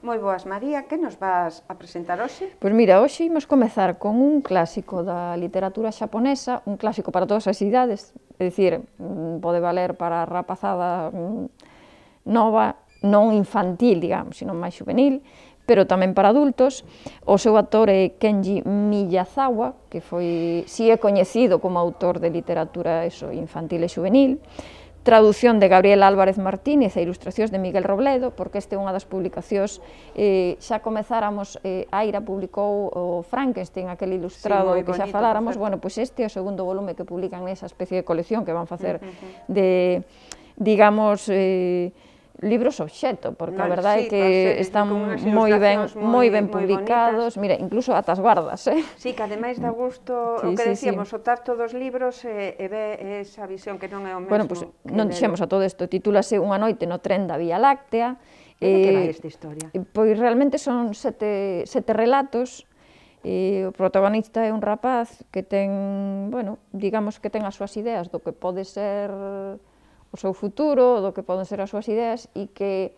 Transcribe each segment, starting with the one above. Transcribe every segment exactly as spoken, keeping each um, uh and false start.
Moi boas, María, que nos vas a presentar hoxe? Pois mira, hoxe imos comezar con un clásico da literatura xaponesa, un clásico para todas as idades, é dicir, pode valer para a rapazada nova, non infantil, digamos, sino máis juvenil, pero tamén para adultos. O seu autor é Kenji Miyazawa, que foi, si é coñecido como autor de literatura eso, infantil e juvenil, traducción de Gabriel Álvarez Martínez e ilustracións de Miguel Robledo, porque este é unha das publicacións, eh, xa comezáramos, eh, Aira publicou o Frankenstein, aquel ilustrado sí, que xa faláramos, bueno, pois este é o segundo volume que publican nesa especie de colección que van facer uh -huh. de, digamos, eh, libros obxecto, porque no, a verdade é sí, que ser, están moi ben, moi ben publicados, mira, incluso ata as guardas, eh? Sí, que ademais dá gusto, sí, o que sí, decíamos, sí. O tacto dos libros e, e ve esa visión que non é o mesmo. Bueno, pues, non dixemos a todo isto, titúlase Unha noite no tren da Vía Láctea. E de que vai esta historia? Pois realmente son sete, sete relatos. E o protagonista é un rapaz que ten, bueno, digamos que ten as súas ideas do que pode ser o seu futuro, do que poden ser as súas ideas, e que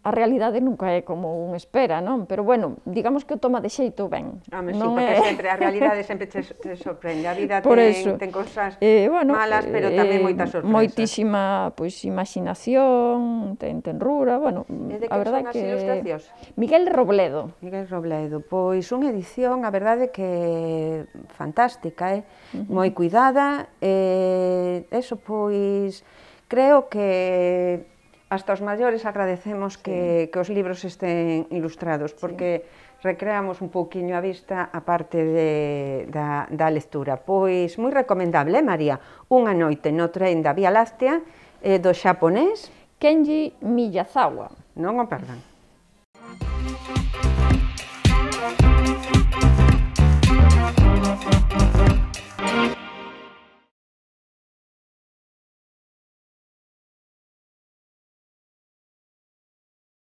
a realidade nunca é como un espera, non? Pero, bueno, digamos que o toma de xeito ben. Home, sí, porque é... sempre, a realidade sempre te, te sorprende. A vida ten, ten cosas eh, bueno, malas, pero eh, tamén moitas sorpresas. Moitísima, pois, imaginación, ten tenrura, bueno, e de a verdade que... ilustracións? Miguel Robledo. Miguel Robledo, pois unha edición, a verdade que fantástica, eh? Uh -huh. Moi cuidada, e eh, eso, pois, creo que hasta os maiores agradecemos que, sí. que os libros estén ilustrados, porque sí. recreamos un pouquiño a vista a parte de, da, da lectura. Pois moi recomendable, eh, María? Unha noite no tren da Vía Láctea, eh, do xaponés Kenji Miyazawa. Non o perdan.